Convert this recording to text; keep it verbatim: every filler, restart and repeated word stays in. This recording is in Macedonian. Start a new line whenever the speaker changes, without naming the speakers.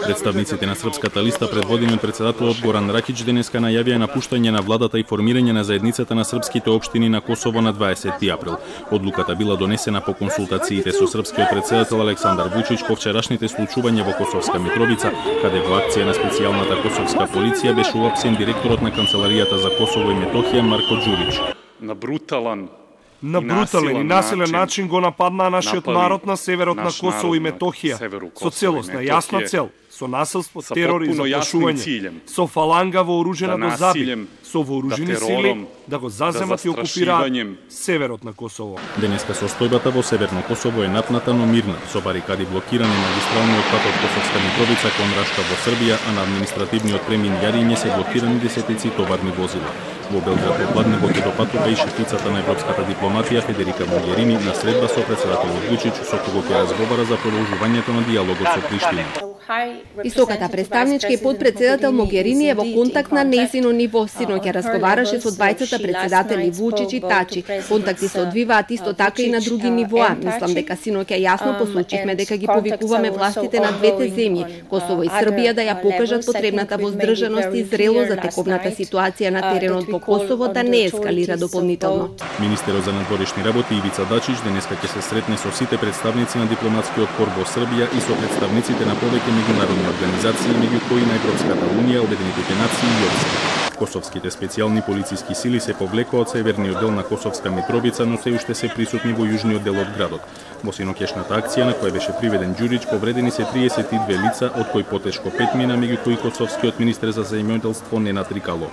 Представниците на Српската листа предводени од председателот Горан Ракич денеска најавија напуштање на владата и формирање на заедницата на српските општини на Косово на дваесетти април. Одлуката била донесена по консултациите со српскиот председател Александар Вучич по вчерашните случувања во Косовска Митровица, каде во акција на специјалната косовска полиција беше уапсен директорот на Канцеларијата за Косово и Метохија Марко Ѓурич.
На бруталан
На брутален и насилен начин го нападнаа нашиот народ на северот на Косово и Метохија, со целосна јасна цел, со насилство, терор и заплашување, со фаланга вооружена до заби, со вооружени сили да го заземат и окупираат северот на Косово.
Денеска состојбата во Северно Косово е напната, но мирна, со барикади блокирани магистралниот пат од Косовска Митровица кон Рашка во Србија, а на административниот премин Јариње се блокирани десетици товарни возила. Во Белград во Пладнегот и до патува и шефицата на европската дипломатија Федерика Могерини на средба со председателот Вучич, со кого ќе разговара за продолжувањето на диалогот со Приштина.
Високата представничка и подпредседател Могерини е во контакт на нејзино ниво. Синоќа разговараше со двајцата председатели Вучич и Тачи. Контакти се одвиваат исто така и на други нивоа. Мислам дека синоќа јасно посочивме дека ги повикуваме властите на двете земји, Косово и Србија, да ја покажат потребната воздржаност и зрело за тековната ситуација на теренот во Косово да не ескалира дополнително.
Министерот за надворешни работи Ивица Дачич денеска ќе се сретне со сите представници на дипломатскиот корп во Србија и со представниците на повеќе меѓународни организации, меѓу кои на Европската унија, Обединетите нации и ОВС. Косовските специјални полициски сили се повлекоа од северниот дел на Косовска Митровица, но се уште се присутни во јужниот дел од градот. Во синоќешната акција на која беше приведен Ѓурич, повредени се триесет и две лица, од кои потешко пет мина, меѓу кои косовскиот министер за земјоделство Ненад Рикало.